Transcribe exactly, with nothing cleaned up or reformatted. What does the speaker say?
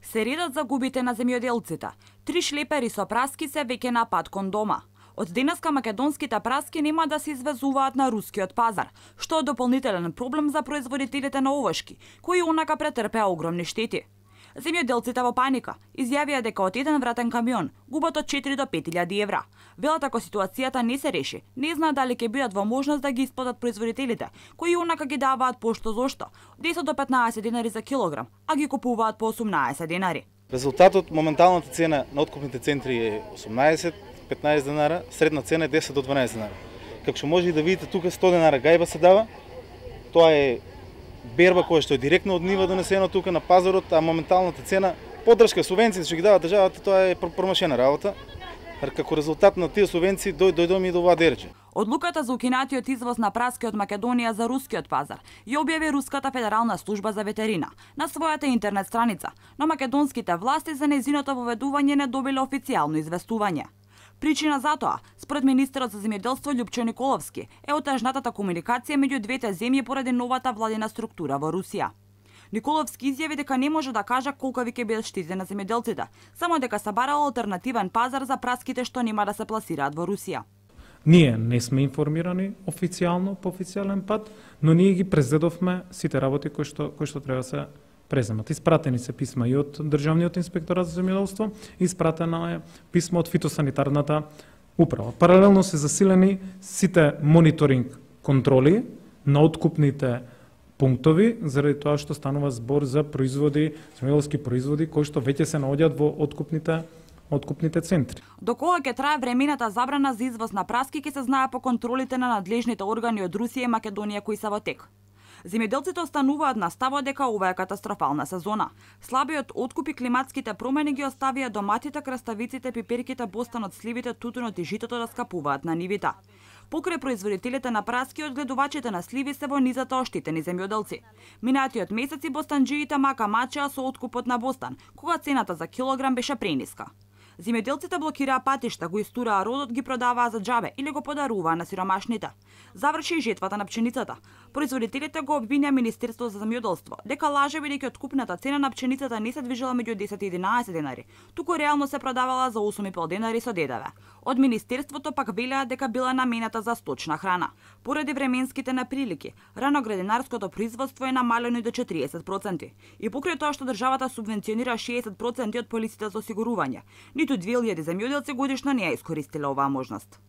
Се редат загубите на земјоделците. Три шлепери со праски се веќе на пат кон дома. Од денеска македонските праски нема да се извезуваат на рускиот пазар, што е дополнителен проблем за производителите на овошки, кои онака претрпеа огромни штети. Земјоделците во паника изјавија дека од еден вратен камион губат од четири до пет илјади евра. Велат ако ситуацијата не се реши, не знаат дали ќе бидат во можност да ги исплатат производителите, кои онака ги даваат пошто зошто, десет до петнаесет денари за килограм, а ги купуваат по осумнаесет денари. Резултатот, моменталната цена на откупните центри е осумнаесет до петнаесет денара, средна цена е десет до дванаесет денара. Како што може да видите тука сто денара гајба се дава, тоа е берба која што е директно од нива донесено тука на пазарот, а моменталната цена, поддршка, субвенции што ги дава државата, тоа е промашена работа. Како резултат на тие субвенции дојдоме и до оваа дерче. Одлуката за укинатиот извоз на праски од Македонија за рускиот пазар ја објави Руската федерална служба за ветерина на својата интернет страница, но македонските власти за нејзиното воведување не добиле официјално известување. Причина за тоа, според министерот за земјоделство Љупчо Николовски, е отежнатата комуникација меѓу двете земји поради новата владина структура во Русија. Николовски изјави дека не може да кажа колкави ќе бидат штетите на земјоделците, само дека се барал алтернативен пазар за праските што нема да се пласираат во Русија. Ние не сме информирани официјално по официјален пат, но ние ги презедовме сите работи кои што кои што треба се преземат. Испратени се писма и од Државниот инспекторат за земјоделство, испратено е писмо од фитосанитарната управа. Паралелно се засилени сите мониторинг контроли на откупните пунктови, заради тоа што станува збор за производи, земјоделски производи кои што веќе се наоѓаат во откупните откупните центри. До кога ќе трае времената забрана за извоз на праски ќе се знае по контролите на надлежните органи од Русија и Македонија кои се во тек. Земјоделците остануваат на ставот дека ова е катастрофална сезона. Слабиот откуп и климатските промени ги оставија доматите, краставиците, пиперките, бостанот, сливите, тутунот и житото да скапуваат на нивите. Покрај производителите на праски, одгледувачите на сливи се во низата оштетени земјоделци. Минатиот месеци бостанџиите мака мачеа со откупот на бостан, кога цената за килограм беше прениска. Земјоделците блокираа патишта, го истураа родот, ги продаваа за џабе или го подаруваа на сиромашните. Заврши и жетвата на пченицата. Производителите го обвинија Министерството за земјоделство дека лаже бидејќи откупната цена на пченицата не се движела меѓу десет и единаесет денари, туку реално се продавала за осум и пол денари со ДДВ. Од Министерството пак велеа дека била намената за сточна храна. Поради временските неприлики, раноградинарското производство е намалено и до четириесет проценти. И покрај тоа што државата субвенционира шеесет проценти од полисите за осигурување, ниту две илјади земјоделци годишно не ја искористиле оваа можност.